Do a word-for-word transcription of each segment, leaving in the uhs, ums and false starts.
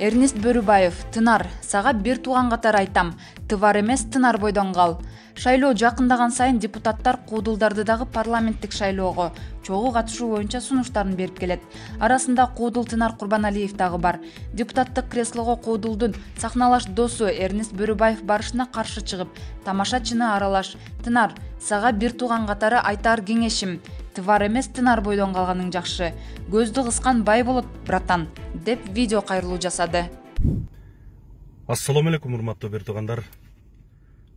Эрнест Бөрүбаев: Тынар, сага бир тууган катары айтам, тывар эмес, тынар бойдон кал. Шайлоо жакындаган сайын депутаттар куудулдарды дагы парламенттик шайлоого чогуу катышуу боюнча сунуштарын берип келет. Арасында куудул Тынар Курбаналиев дагы бар. Депутаттык креслого куудулдун сахналаш досу Эрнест Бөрүбаев барышына каршы чыгып, тамашачыны аралаш: Тынар, сага бир тууган катары айтаар кеңешим, тывар эмес, тынар бойдон калганың жакшы. Көздү кыскан бай болот, братан, деп видео кайрылуу жасады. Ассаламу алейкум, урматтуу бир туугандар.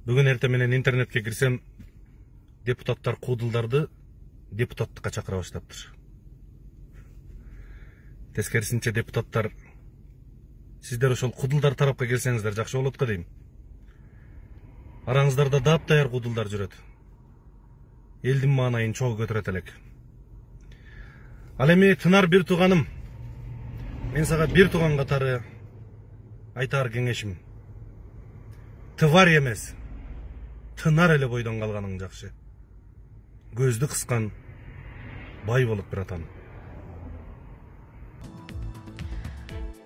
Бүгүн эртең менен интернетке кирсем, депутаттар куудулдарды депутаттыкка чакыра баштаптыр. Тескерисинче депутаттар, сиздер ошол куудулдар тарапка келсеңиздер жакшы болот го дейм. Араңыздарда дап-даяр куудулдар жүрөт. Элдин маанайын чогуу көтөрөт элек. Ал эми Тынар бир тууганым, мен сага бир тууган катары айтаар кеңешим: тывар эмес, тынар эле бойдон калганың жакшы. Көздү кыскан бай болот, братан.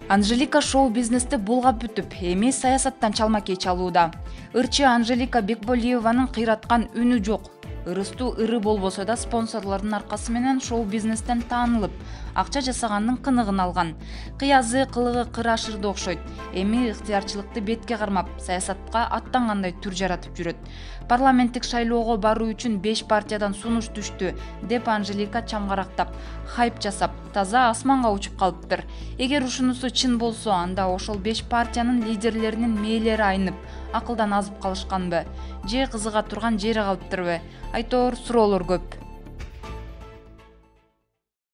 Анжелика шоу-бизнести булгап бүтүп, эми саясаттан чалма-кей чалууда. Ырчы Анжелика Бекболиеванын кыйраткан үнү жок. Ырыстуу ыры болбосо да спонсорлордун аркасы менен шоу-бизнестен таанылып, акча жасаганын кыныгын алган. Кыязы, кылыгы кыр ашырды окшойт. Эми ыктыярчылыкты бетке кармап, саясатка аттангандай түр жаратып жүрөт. Парламенттик шайлоого баруу үчүн беш партиядан сунуш түштү, деп Анжелика чамгарактап, хайп жасап, таза асманга учуп калыптыр. Эгер ушунусу чын болсо, анда ошол беш партиянын лидерлеринин мээлери айнып, акылдан азып калышканбы? Же кызыга турган жери калыптырбы? Айтор суроолор көп.